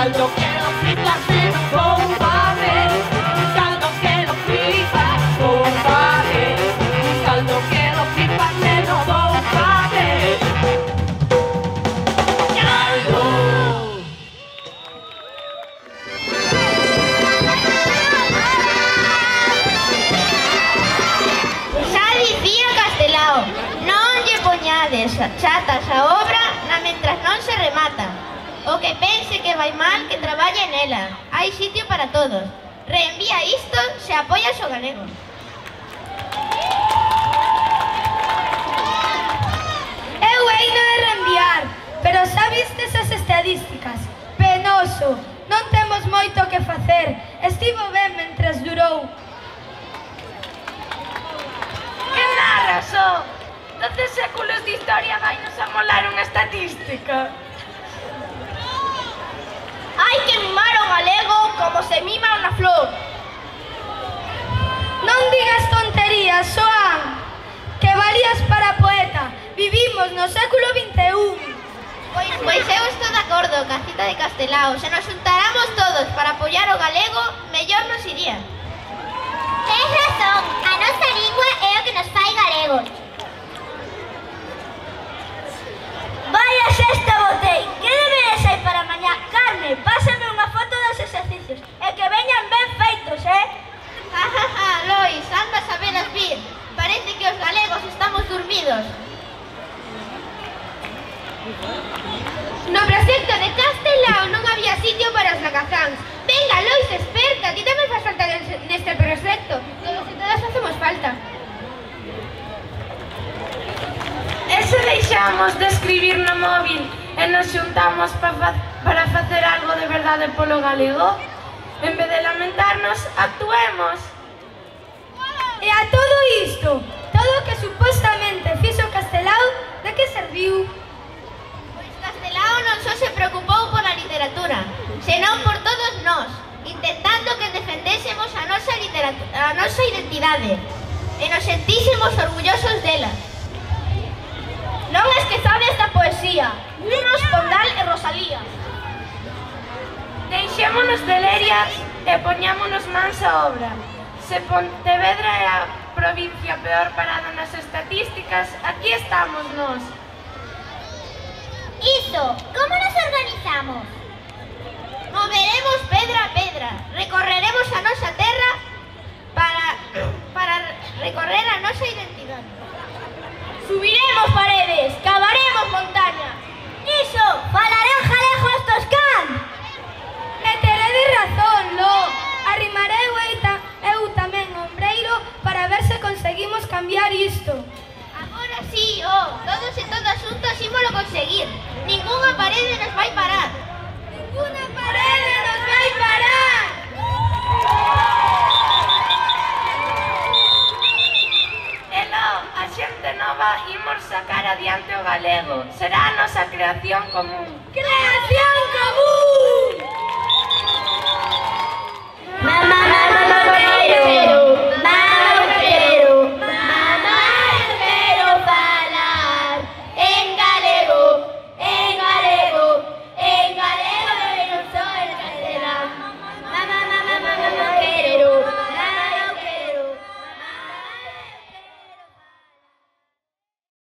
caldo que lo flipas en bombabe, caldo que lo flipas, bombabe, caldo que lo flipas en bombabe. Caldo. Xa dicía Castelao, non lle poñades chatas a obra na mentras non se remata. O que pense que vai mal, que traballe nela. Hai sitio para todos. Reenvía isto se apoias o galego. Eu heino de reenviar, pero xa vistes as estadísticas? Penoso, non temos moito que facer. Estivo ben mentres durou. Que narras, oh? 12 séculos de historia vai nos amolar unha estatística. Hai que mimar o galego como se mima unha flor. Non digas tonterías, Xoán, que valías para poeta. Vivimos no século XXI. Pois eu estou de acordo ca cita de Castelao. Se nos juntáramos todos para apoiar o galego, mellor nos iría. Tens razón, a nosa lingua é o que nos fai galegos. Vaya sexta botei, que deberes hai para mañá? Carme, pásame unha foto dos exercicios e que veñan ben feitos, Lois, andas a veras vir. Parece que os galegos estamos dormidos. No proxecto de Castelao non había sitio para os lagazáns. Venga, Lois, esperta, ti tamén faz falta neste proxecto. Todos e todas facemos falta. E se deixamos de escribir no móvil e nos xuntamos para facer algo de verdade polo galego? En vez de lamentarnos, actuemos. E a todo isto, todo o que supostamente fixo Castelao, de que serviu? Pois Castelao non só se preocupou pola literatura, senón por todos nós, intentando que defendésemos a nosa identidade e nos sentísemos orgullosos dela. Non esquezades da poesía, Lunos, Pondal e Rosalía. Deixémonos de lerias e poñámonos mans á obra. Se Pontevedra é a provincia peor parada nas estatísticas, aquí estamos nós. Iso, como nos organizamos? Moveremos pedra a pedra, recorreremos a nosa terra para recorrer a nosa identidade. Subiremos paredes, cavaremos montaña. Iso, falarán galego estos can. E teredes razón, Lo. Arrimarei eu tamén ombreiro para ver se conseguimos cambiar isto. Agora sí, todos e todas xuntos ímolo conseguir. Ningunha parede nos vai parar. Ninguna parede nos vai parar. A xente nova imos sacar adiante o galego. Será a nosa creación común. Creación común!